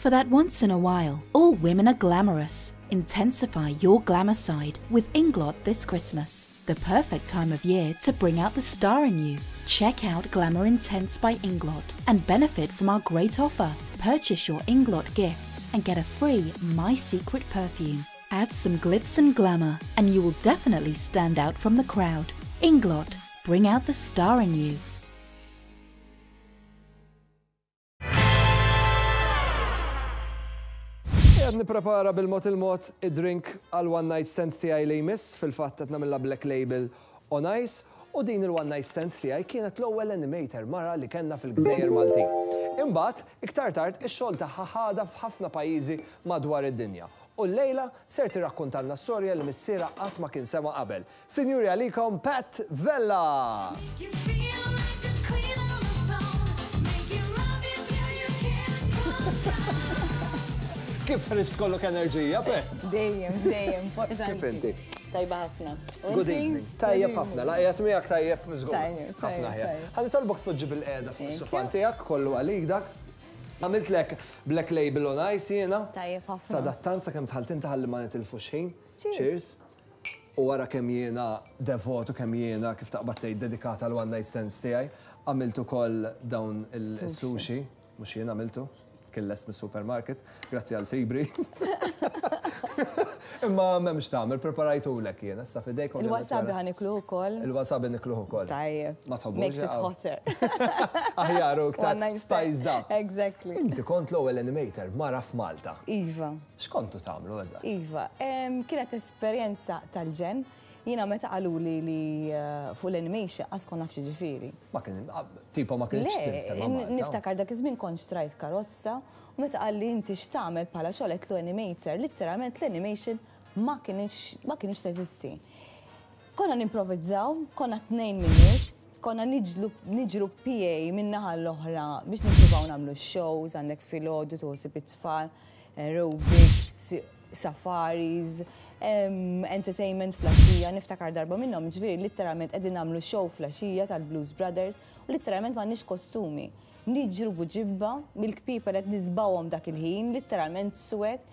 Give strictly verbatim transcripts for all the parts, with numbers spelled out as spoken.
For that once in a while, all women are glamorous. Intensify your glamour side with Inglot this Christmas. The perfect time of year to bring out the star in you. Check out Glamour Intense by Inglot and benefit from our great offer. Purchase your Inglot gifts and get a free My Secret perfume. Add some glitz and glamour and you will definitely stand out from the crowd. Inglot, bring out the star in you. Qed nipprepara bil-mod il-mod id-drink għal one night stand tiegħi li jmiss, fil-fatt qed nagħmilha Black Label on ice, u din il-one night stand tiegħi kienet l-ewwel animator mara li kellna fil-Gżejjer Maltin. Imbagħad, iktar tard ix-xogħol tagħha ħadha f'ħafna pajjiżi madwar id-dinja. U llejla ser tirrakkontalna storja li missierha qatt ma kien sema' qabel. Sinjuri, għalikom Pat Vella! You feel like a queen on the throne, make you love you till you can't come down. Kif ħriġt kollok enerġija, Pat? Dejjem, dejjem, importanti. Kif inti? Tajba ħafna. U Good inti? evening. Tajjeb ħafna, la qiegħed miegħek tajjeb żgur. Tajjeb, Ħafna tajjeb, ħjar. tajjeb. Ħa nitolbok tpoġġi bilqiegħda fuq Thank is-sufan you. tiegħek, kollu għalik dak. Għamiltlek Black Label on ice jiena. Tajjeb ħafna. Sadattant sakemm dħalt inti ħalli ma nitilfux ħin. Cheers. Cheers. U wara kemm jiena devotu, kemm jiena kif taqbad tgħid dedikata għal one night stands tiegħi, għamilt ukoll dawn il-sushi, mhux jien għamiltu, kien lest mis-supermarket, grazzi għal Sibri. Imma m'hemmx tagħmel, preparajtulek jiena, issa f'idejk. Il-wasabi ħa nikluh ukoll. Il-wasabi nikluh ukoll. Tajjeb. Ma tħobbux? Makes it hotter. Aħjar u iktar One night stand. spiced up. Exactly. Inti kont l-ewwel animator mara f'Malta. Iva. X'kontu tagħmlu eżatt? Iva, em, kienet esperjenza tal-ġenn. Jiena meta qaluli li eh, fuq l-animation qas kont naf ġifieri. Ma kien tipo ma kienx Le, tinstema' n- Malta. niftakar dak iż-żmien kont xtrajt karozza u meta qalli inti x'tagħmel bħala xogħol għedtlu animator, literalment l-animation ma kienx ma kienx teżisti. Konna nimprovizzaw, konna tnejn minn nies, konna niġlu niġru P A minn naħa l-oħra biex nippruvaw nagħmlu shows, għandek filgħodu toħsib it-tfal, aerobics, safaris, em, entertainment filgħaxija, niftakar darba minnhom, ġifieri literalment qegħdin nagħmlu show filgħaxija tal-Blues Brothers u literalment m'għandniex kostumi. Niġru buġibba, mill-kpiepel qed niżbgħuhom dak il-ħin, literalment suwed.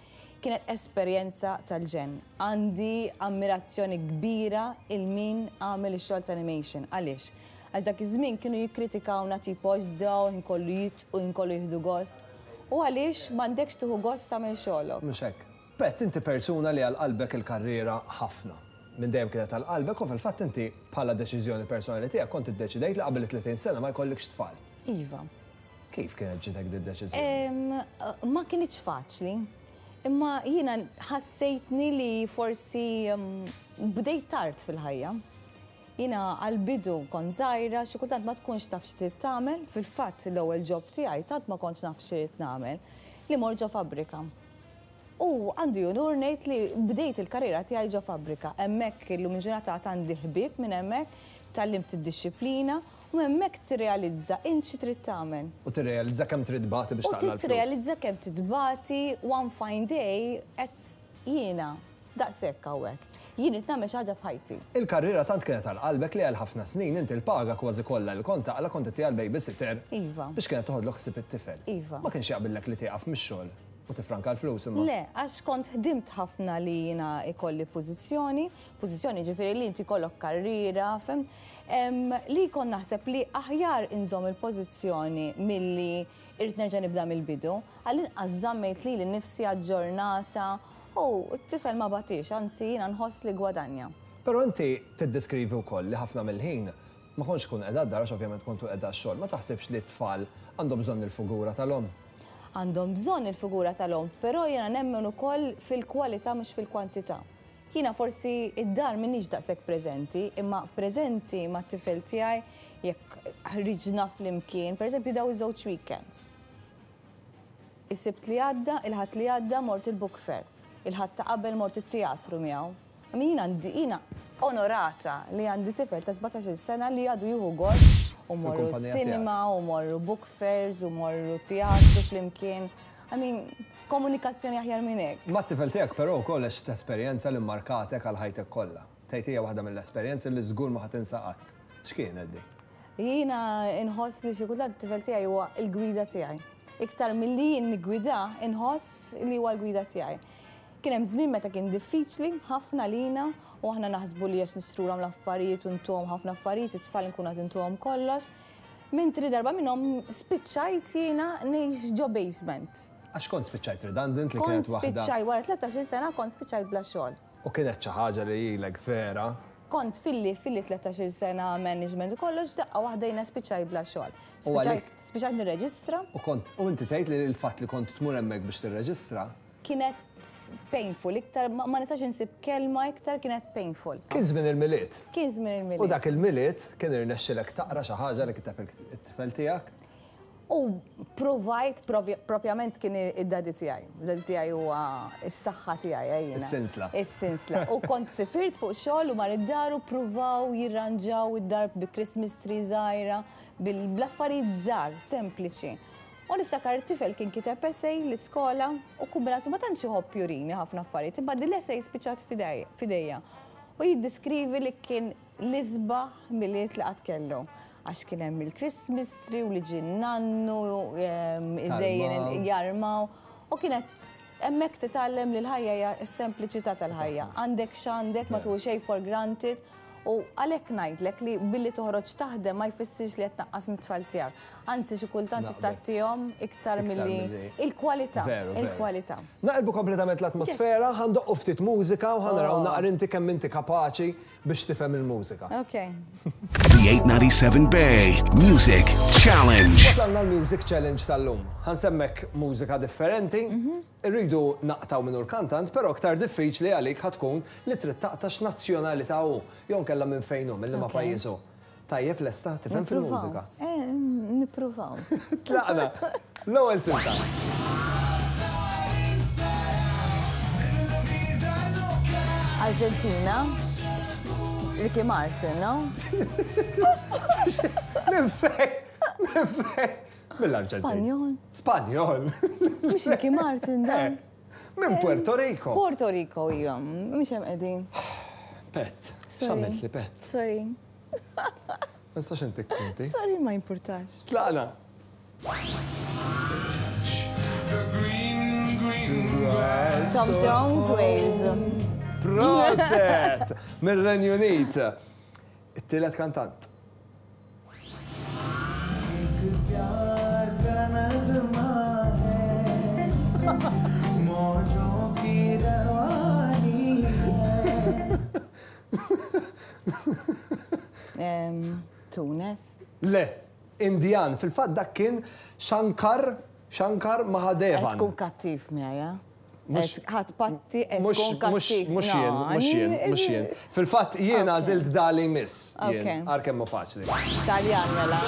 Kienet esperjenza tal-ġenn. Għandi ammirazzjoni kbira lil min għamel ix-xogħol ta' animation. Għaliex? Għax dak iż-żmien kienu jikkritikawna tipo għax dawn inkollu jitqu, inkollu jieħdu gost. U għaliex m'għandekx tieħu gost tagħmel xogħolok? Mhux hekk. Pat, inti persuna li għal qalbek il-karriera ħafna. Minn dejjem kienet għal qalbek u fil-fatt inti bħala deċiżjoni personali tiegħek kont iddeċidejt li qabel tletin sena ma jkollikx tfal. Iva. Kif kienet ġitek di deċiżjoni? Em, Ma kienx faċli, imma jiena ħassejtni li forsi em, bdejt tard fil-ħajja. Jiena għal-bidu kont żgħira, xi kultant ma tkunx taf x'trid tagħmel, fil-fatt l-ewwel job tiegħi tant ma kontx naf x'trid nagħmel li mort ġo fabbrika. U għandi unur ngħid li bdejt il-karriera tiegħi ġo fabbrika. Hemmhekk illum il-ġurnata għandi ħbieb minn hemmhekk, tgħallimt id-dixxiplina u hemmhekk tirrealizza int xi trid tagħmel. U tirrealizza kemm trid tbati biex U taqla' l-flus. tirrealizza kemm titbati one fine day qed jiena daqshekk hawnhekk. Jien qed nagħmel xi ħaġa b'ħajti. Il-karriera tant kienet għal qalbek li għal ħafna snin inti l-paga kważi kollha li kont taqla kont tagħtiha l-babysitter. Iva. Biex kienet toħodlok ħsieb it-tifel. Iva. Ma kienx jaqbillek li tieqaf mix-xogħol u tifranka l-flus imma. Le, għax kont ħdimt ħafna li jiena ikolli pożizzjoni, pożizzjoni ġifieri li inti kollok karriera, fhimt? Em, li kont naħseb li aħjar inżomm il-pożizzjoni milli irrid nerġa' nibda mill-bidu, għall-inqas żammejt lili nnifsi aġġornata u t-tifel ma batix, anzi jiena nħoss li gwadanja. Però inti tiddeskrivi wkoll li ħafna mill-ħin ma kontx tkun qiegħda d-dar għax ovvjament kontu qiegħda x-xogħol, ma taħsibx li t-tfal għandhom bżonn il-figura tal-omm? Għandhom bżonn il-figura tal-omm, però jiena nemmen ukoll fil-kwalità mhux fil-kwantità. Jiena forsi id-dar m'iniex daqshekk preżenti, imma preżenti mat-tifel tiegħi jekk ħriġna flimkien, pereżempju daw iż-żewġ weekends. Is-Sibt li għadda, il-Ħadd li għadda mort il-book fair. Il-Ħadd ta' qabel mort it-teatru miegħu. Imma jiena għandi jiena onorata li għandi tifel ta' sbatax-il sena li għadu jieħu gost u morru Fil-kumpanija cinema tiegħek. u morru book fairs u morru teatru flimkien. I mean, komunikazzjoni aħjar minn hekk. Ma t-tifel tiegħek però wkoll għext esperjenza li markatek għal ħajtek kollha. Tgħid hija waħda mill-esperjenzi li żgur ma ħa tinsa qatt. X'kienet di? Jiena inħoss li xi kultant it-tifel tiegħi huwa l-gwida tiegħi. Iktar milli jien niggwida, inħoss li huwa l-gwida tiegħi. Kien hemm żmien meta kien diffiċli ħafna lina u aħna naħsbu li għax nixtrulhom l-affarijiet u ntuhom ħafna affarijiet, it-tfal nkunu qed intuhom kollox. Mentri darba minnhom spiċċajt jiena ngħix ġo basement. Għax kont spiċċajt redundant li Kont kienet waħda. spiċċajt wara tlettax-il sena, kont spiċċajt bla xogħol. U kienet xi ħaġa li ilek vera. Kont filli filli tlettax-il sena management u kollox, daqqa waħda jiena spiċċajt bla xogħol. U għalik- Spiċċajt spiċċajt nirreġistra. U kont u inti tgħid li l-fatt li kont tmur hemmhekk biex tirreġistra Kienet painful, iktar ma ma nistax insib kelma iktar, kienet painful. Kien żmien il-Milied. Kien żmien il-Milied. U dak il-Milied kien irnexxilek taqra xi ħaġa li kiteb it-tifel tiegħek. U provajt, propjament kien id-daddy tiegħi. Id-daddy tiegħi huwa s-saħħa tiegħi jiena. Is-sinsla. Is-sinsla. U kont sifirt fuq xogħol u mar id-dar u pruvaw jirranġaw id-dar bi Christmas tree żgħira, bil-affarijiet żgħar, sempliċi. U niftakar tifel kien kiteb essay l-iskola u kombinazzjoni ma tantx iħobb jurini ħafna affarijiet, imma din l-essay spiċċat f'idejja. U jiddiskrivi li kien l-isbaħ Milied li qatt kellu. Għax kien hemm il-Christmas tree u li ġie nannu iżejjen jarmaw. U kienet hemmhekk titgħallem li l-ħajja hija s-sempliċità tal-ħajja. Għandek x'għandek, ma tieħu xejn for granted. U għalhekk ngħidlek li billi toħroġ taħdem ma jfissirx li qed tnaqqas mit-tfal tiegħek. Anzi, xi kultant tista' ttihom iktar milli il-kwalità. Il-kwalità. Naqilbu kompletament l-atmosfera, ħa ndoqqu ftit mużika u ħa naraw naqra inti kemm inti kapaċi biex tifhem il-mużika. Ok. The eight ninety-seven Bay Music Challenge. Wasalna l-Music Challenge tal-lum. Ħa nsemmgħek mużika differenti, irridu naqtgħu min hu l-kantant, però aktar diffiċli għalik ħa tkun li trid taqta' x'nazzjonalità hu, jew nkella minn fejn hu, minn liema pajjiż hu. Tajjeb, lesta, tifhem fil-mużika? Eh, nippruvaw. Tlaqna. L-ewwel silta. Argentina. Ricky Martin, no? Minn fejn? Minn fejn? Mill-Arġentina. Spanjol. Spanjol. Mhux Ricky Martin dan. Minn Puerto Rico. Puerto Rico, ija. Mhux hemm qegħdin. Pet. X'għamilt li, Pet? Sorry. Ma nistax intik punti. Sorry, ma importax. Tlaqna. The green, green grass. Tom Jones, Wales. Proset! Mir-Renju Unit. It-tielet kantant. प्यार का नगमा है, मौजों की रवानी है। Em, Tunes. Le, Indian. Fil-fatt dak kien Shankar, Shankar Mahadevan. Qed tkun kattiv miegħi, Mhux- ħadd patti qed Mhux, tkun mhux, kattiv. mhux jien, mhux jien, mhux jien. Fil-fatt jien għażilt dali miss. Jien, Ok. Ar kemm hu faċli. Taljan mela.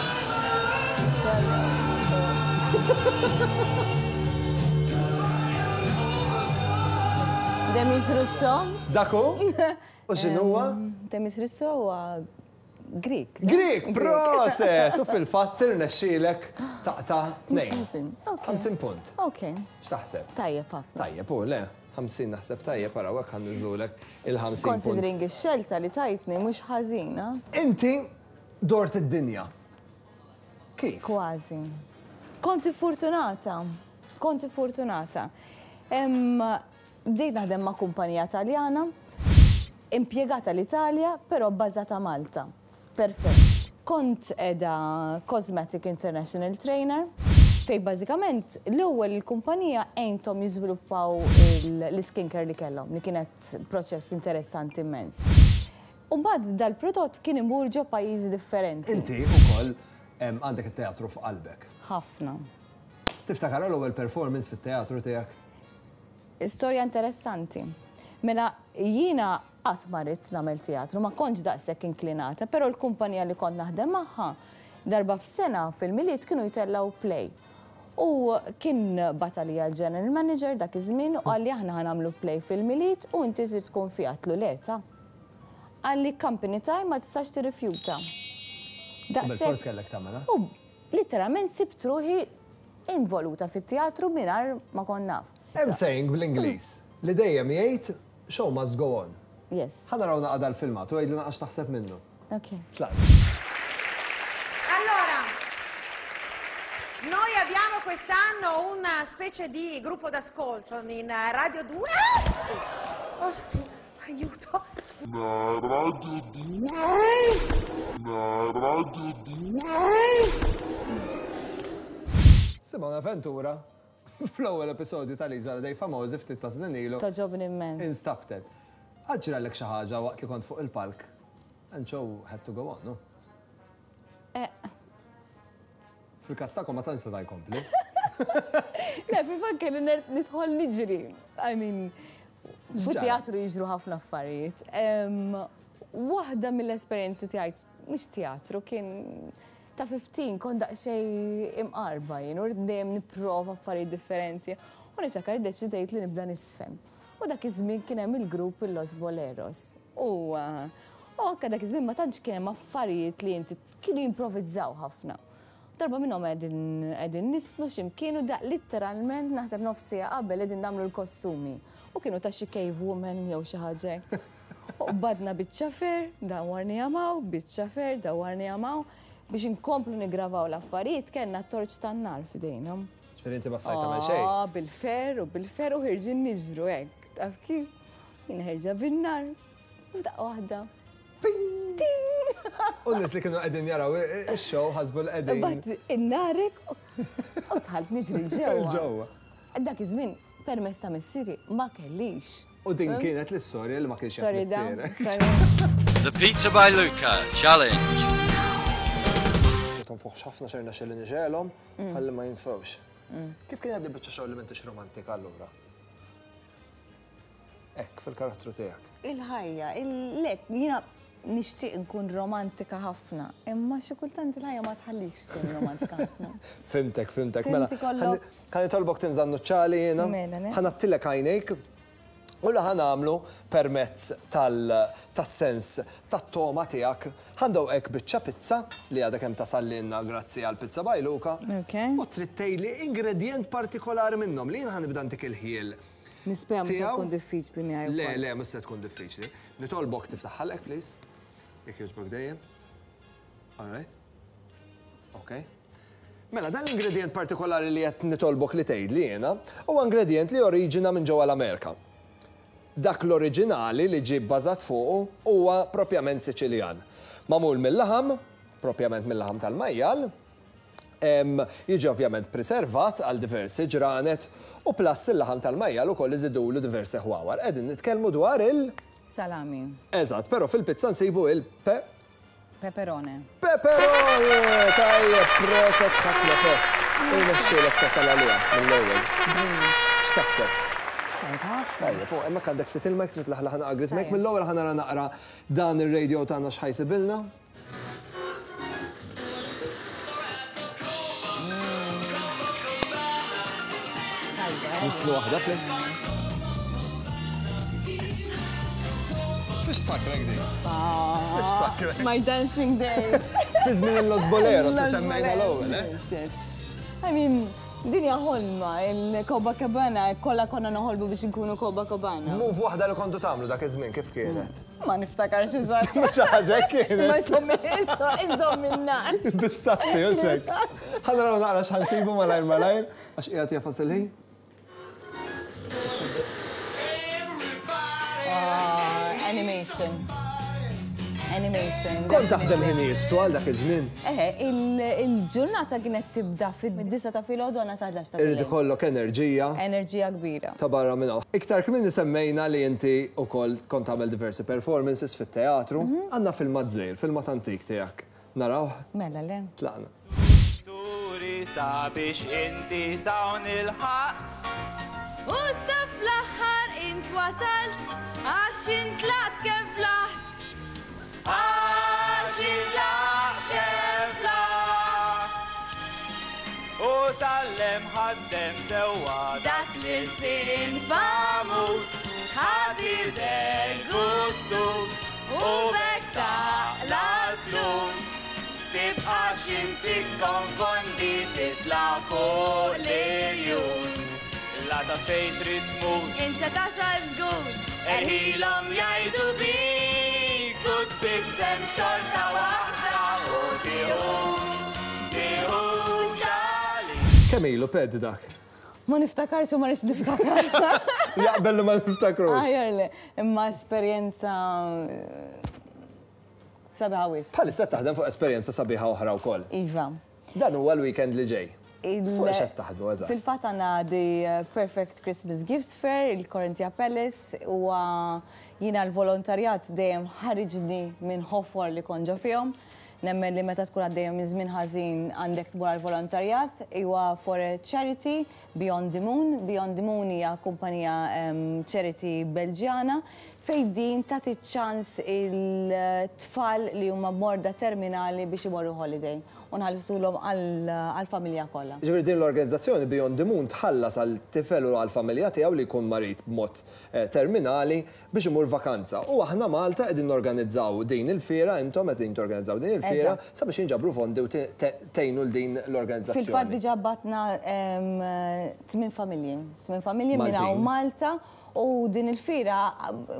Demis Russo. Dak hu? U x'inhuwa? Demis Russo huwa Greek. Greek, proset! U fil-fatt irnexxielek taqta' tnejn. ħażin. Ok. ħamsin punt. Ok, X'taħseb? Tajjeb ħafna. Tajjeb, u le, ħamsin naħseb tajjeb, araw hekk ħa nniżżlulek il-ħamsin punt. Considering ix-xelta li tajtni, mhux ħażina. Inti dort id-dinja. Kif? Kważi. Konti fortunata. Konti fortunata. Em, Bdejt naħdem ma' kumpanija Taljana, impjegata l-Italja, però bbażata Malta. Perfett. Kont edha Cosmetic International Trainer, fej bażikament l-ewwel il-kumpanija għenthom jiżviluppaw il- l-skincare li kellhom, li kienet proċess interessanti immens. U mbagħad dal-prodott kien imur ġo pajjiżi differenti. Inti ukoll em, għandek it-teatru f'qalbek. Ħafna. Tiftakar l-ewwel performance fit-teatru tiegħek? Storja interessanti. Mela jiena qatt ma ridt nagħmel teatru, ma kontx daqshekk inklinata, però l-kumpanija li kont naħdem magħha darba f'sena fil-Milied kienu jtellaw play. U kien batalija l-general manager dak iż-żmien u qalli, "Aħna ħa nagħmlu play fil-Milied u inti trid tkun fiha." Għedtlu, "Le ta." Qalli, "Company time, ma tistax tirrifjuta." Bil-fors kellek tagħmilha. U literalment sibt ruħi involuta fit-teatru mingħajr ma kont naf. Hemm saying bl-Ingliż li dejjem jgħid, "Show must go on." Yes. Ħa naraw naqra dal-filmat u għidli naqra x'taħseb minnu. Ok. Tlaqna. Allora, noi abbiamo quest'anno una specie di gruppo d'ascolto in Radio due. Oh sì, aiuto. Radio due. Radio due. Simona Ventura, fl-ewwel episodju tal-Iżola dei Famosi ftit ta' snin ilu. Togħġobni immens. Instabtet. Ġralek xi ħaġa waqt li kont fuq il-palk. And show had to go on, no? Eh. Fil-każ tagħkom ma tantx seta' jkompli. Le, fil-fatt kelli nidħol niġri. I mean, fit-teatru jiġru ħafna affarijiet. Waħda mill-esperjenzi tiegħi mhux teatru kien ta' ħmistax, kont daqsxejn imqarba jien u dejjem nipprova affarijiet differenti. U niftakar iddeċidejt li nibda niżfen. U dak iż-żmien kien hemm il-grupp il-Los Boleros. U u anke dak iż-żmien ma tantx kien hemm affarijiet li inti kienu jimprovizzaw ħafna. Darba minnhom qegħdin qegħdin niżfnu x'imkien u daq litteralment naħseb nofs siegħa qabel qegħdin nagħmlu l-kostumi. U kienu ta' xi cave woman jew xi ħaġa. U qbadna biċċa fer, dawwarnieha 'l hawn, biċċa fer, dawwarnieha 'l hawn, biex inkomplu nigravaw l-affarijiet kellna torċ tan-nar f'idejna. Ġifieri inti ma stajt tagħmel xejn. Ah, bil-fer u bil-fer u ħerġin niġru hekk. Taf kif? Jien ħerġa bin-nar. U f'daqqa waħda. U n-nies li kienu qegħdin jaraw ix-show ħasbu l-qegħdin. Bat in-narek u dħalt niġri ġewwa. Ġewwa. Dak iż-żmien permess ta' missieri ma kellix. U din kienet l-istorja li ma kienx jaf Sorry da, missierek. Sorry. The Pizza by Luca Challenge. Se tonfoħx ħafna xerna xelli nixgħelhom, Mm. ħalli ma jinfewx. Kif kien għaddi biċċa xogħol li m'intix romantika allura? Hekk, fil-karattru tiegħek. Il-ħajja, il-lek, jiena nixtieq nkun romantika ħafna, imma xi kultant il-ħajja ma tħallikx tkun romantika ħafna. Fhimtek, fhimtek. Mela, Fhimti kollok. ħa nitolbok tinża' n-nuċċali jiena. Mela, le. Ħa ngħattilek għajnejk. U li ħa nagħmlu permezz tal-sens tat-togħma tiegħek. Ħa ndewqek biċċa pizza li għadha kemm tasallinna grazzi għal Pizza by Luca. Ok. U trid tgħidli ingredient partikolari minnhom li jien ħa nibda ntik il-ħjiel. Nispera mhux se Tiegħu? tkun diffiċli miegħi Le, wkoll. le, mhux se tkun diffiċli. Nitolbok tiftaħ ħalqek, please. Jekk jogħġbok dejjem. All right. Ok. Mela, dan l-ingredient partikolari li qed nitolbok li tgħidli jiena huwa ingredient li oriġina minn ġewwa l-Amerika. Dak l-oriġinali li ġie bbażat fuqu huwa propjament Siċiljan. Magħmul mill-laħam, propjament mill-laħam tal-majjal, em, jiġi ovvjament preservat għal diversi ġranet u plus il-laħam tal-majjal ukoll iżidulu diversi ħwawar. Qegħdin nitkellmu dwar il- Salami, Eżatt, però fil-pizza nsibu il-pe peperone. Peperone! Tajjeb, proset ħafna, Pep. Irnexxielek tasal għaliha mill-ewwel. X'taħseb? Tajjeb ħafna. Tajjeb, u hemmhekk għandek ftit ilma jekk trid laħlaħ naqra griżmejk. Tajjeb. Mill-ewwel ħa nara naqra dan ir-radio tagħna x'ħa jsibilna. Tajba. Niżfnu waħda, please. Fiex tfakkrek din? Fiex tfakkrek? My dancing days. Fi żmien il-Los Boleros, li Los semmejna l-ewwel, eh? Yes, yes. I mean, dinja ħolma, il-Copacabana, kollha konna noħolmu biex nkunu Copacabana. Move waħda li kontu tagħmlu dak iż-żmien kif kienet? Ma niftakarx eżatt. Mhux ħaġa kienet. Ma insomma, issa, inżomm in-nar. Biex taffi, u hekk. Ħa naraw naqra x'ħa nsibu malajr malajr, għax qiegħed jagħfas il-ħin. Ah, animation. Animation. Kont taħdem definitely. ħinijiet twal dak iż-żmien. Eħe, il- il-ġurnata kienet tibda fid-disgħa ta' filgħodu għandna sa ħdax ta' Irid filgħodu. ikollok enerġija Enerġija kbira. ta' barra minn hawn. Iktar kmieni semmejna li inti wkoll kont tagħmel diversi performances fit-teatru. Għandna filmat żgħir, filmat antik tiegħek. Naraw? Mela, le. Tlaqna. Turi sabiex inti s'hawn ilħaqt. U sa fl-aħħar int wasalt, għax intlaqt kemm flaħt. Għax intlaqt kemm flaħt. U tgħallem ħaddem sewwa Dak li sin famuż, ħadidek gustus, u b'hekk taqla' l-flus. Tibqax inti konfondi titla' fuq l-irjus. La ta' fejn trid tmur. Insa tasal żgur, Erħilhom jgħidu bik, u tbissem xorta waħda u tiħux, tiħux għalik. Kemm ilu ped dak? Ma niftakarx u ma rridx niftakar. Jaqbel li ma niftakrux. Aħjar le, imma esperjenza sabiħa wisq. Bħalissa taħdem fuq esperjenza sabiħa oħra wkoll. Iva. Dan huwa l-weekend li ġej. Il- Fuq x'qed taħdmu eżatt? Fil-fatt għandna The Perfect Christmas Gifts Fair, il-Corinthia Palace, huwa jiena l-volontarjat dejjem ħariġni minn ħofor li kont ġo fihom. Nemmen li meta tkun għaddejjem minn żmien ħażin għandek tmur għal-volontarjat, huwa for a charity Beyond the Moon. Beyond the Moon hija kumpanija em, charity Belġjana fejn din tagħti ċans il-tfal li huma morda terminali biex imorru holiday u nħallsulhom għall-familja kollha. Ġifieri din l-organizzazzjoni Beyond the Moon tħallas għal tifel u għal familja tiegħu li jkun marid b'mod eh, terminali biex imur vakanza. U aħna Malta qegħdin norganizzaw din il-fiera, intom qegħdin torganizzaw din il-fiera Eżatt. sabiex jinġabru fondi u te- te- tgħinu l din l-organizzazzjoni. Fil-fatt diġà bgħatna em, tmien familji. Tmien familji minn hawn Maltin. Malta u din il-fira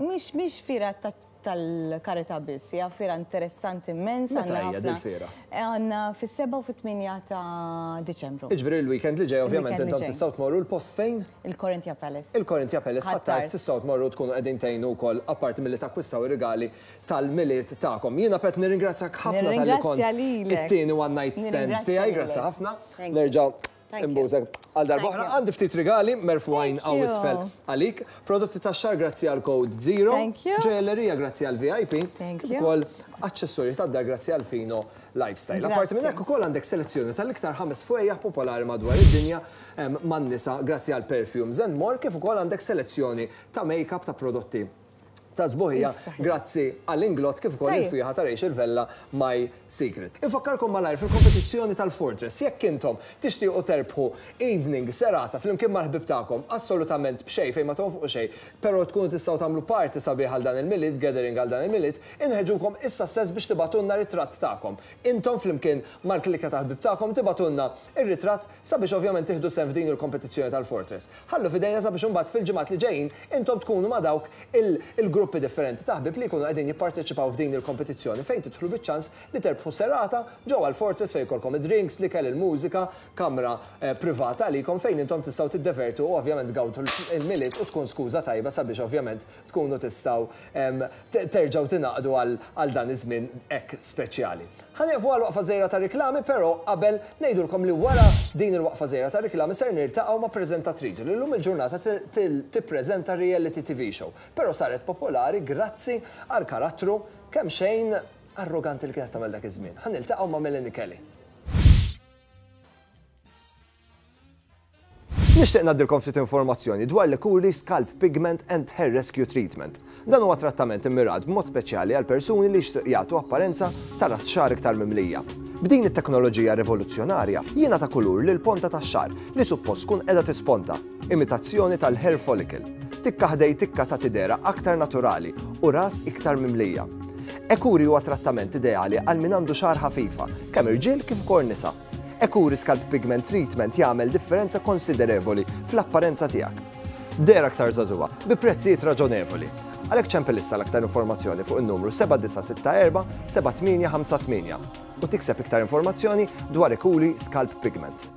mhix mhix fira ta- tal-karità biss, hija fira interessanti immens. Meta għandna hija ħafna- din il-fira? Għandna fis-seba' u fit-tmienja ta' Diċembru. Iġifieri il-weekend li ġej ovvjament Il-weekend li intom ġej. tistgħu tmorru l-post fejn? Il-Corinthia Palace. Il-Corinthia Palace Ħ'Attard. Ħ'Attard tistgħu tmorru tkunu qegħdin tgħinu wkoll apparti milli takkwistaw ir-rigali tal-Milied tagħkom. Jiena Pat nirringrazzjak ħafna talli kont Nirringrazzja lilek. it-tieni one night stand Nirringrazzja tiegħi, lilek. grazzi ħafna. Thank you. Nerġa' Thank you. imbużek għal darba Thank oħra. you. Għandi ftit rigali merfugħin Thank hawn you. isfel għalik. Prodotti tax-xagħar grazzi għal Code Zero. Thank you. Ġojellerija grazzi għal V I P. Thank Kif you. ukoll aċċessorji tad-dar grazzi għal Fino Lifestyle. Grazzi. Apparti minn hekk ukoll għandek selezzjoni tal-iktar ħames fwejjaħ popolari madwar id-dinja em, man-nisa grazzi għal Perfumes and More, kif ukoll għandek selezzjoni ta' make-up, ta' prodotti ta' sbuħija Issa. grazzi għall-Inglot, kif ukoll Tajjeb. il-fwieħa ta' Rachel Vella My Secret. Infakkarkom malajr fil-kompetizzjoni tal-Fortress, jekk intom tixtiequ terbħu evening serata flimkien mal-ħbib tagħkom assolutament b'xejn fejn ma tonfqu xejn, però tkunu tistgħu tagħmlu party sabiħ għal dan il-Milied, gathering għal dan il-Milied, inħeġġukom issa stess biex tibagħtulna ritratt tagħkom. Intom flimkien mal-klikka ta' ħbib tagħkom tibagħtulna ir-ritratt sabiex ovvjament tieħdu sehem f'din il-kompetizzjoni tal-Fortress. Ħallu f'idejna sabiex imbagħad fil-ġimgħat li ġejjin intom tkunu ma' dawk il- il-gruppi differenti ta' ħbib li jkunu qegħdin jipparteċipaw f'din il-kompetizzjoni fejn tidħlu biċ-ċans li terbħu serata ġewwa l-Fortress fejn jkollkom id-drinks, l-ikel, il-mużika, kamra eh, privata għalikom fejn intom tistgħu tiddevertu u ovvjament gawdu il-Milied u tkun skuża tajba sabiex ovvjament tkunu tistgħu em, te- terġgħu tingħaqdu għal għal dan iż-żmien hekk speċjali. Ħa nieqfu għal waqfa żgħira ta' riklami, però qabel ngħidulkom li wara din il-waqfa żgħira ta' riklami ser niltaqgħu ma' preżentatriċi li llum il-ġurnata tippreżenta reality T V show. Però saret popolari grazzi għal karattru kemm xejn arroganti li kienet tagħmel dak iż-żmien. Ħa niltaqgħu ma' Melanie Kelly. Nixtieq ngħaddilkom ftit informazzjoni dwar l-Kuri Scalp Pigment and Hair Rescue Treatment. Dan huwa trattament immirat b'mod speċjali għal persuni li jixtieq jagħtu apparenza ta' ras xagħar iktar mimlija. B'din it-teknoloġija rivoluzzjonarja jiena ta' kulur lil ponta tax-xagħar li suppost tkun qiegħda tisponta, imitazzjoni tal-hair follicle. Tikka ħdejn tikka ta' tidera aktar naturali u ras iktar mimlija. Ekuri huwa trattament ideali għal min għandu xagħar ħafifa, kemm irġiel kif ukoll nisa. Ekuri Scalp Pigment Treatment jagħmel differenza konsiderevoli fl-apparenza tiegħek. Dehra aktar żagħżugħa bi prezzijiet raġonevoli. Għalhekk ċempel issa l-aktar informazzjoni fuq il-numru seba' disa' sitta erba' seba' tmienja ħamsa tmienja u tikseb iktar informazzjoni dwar Ekuri Scalp Pigment.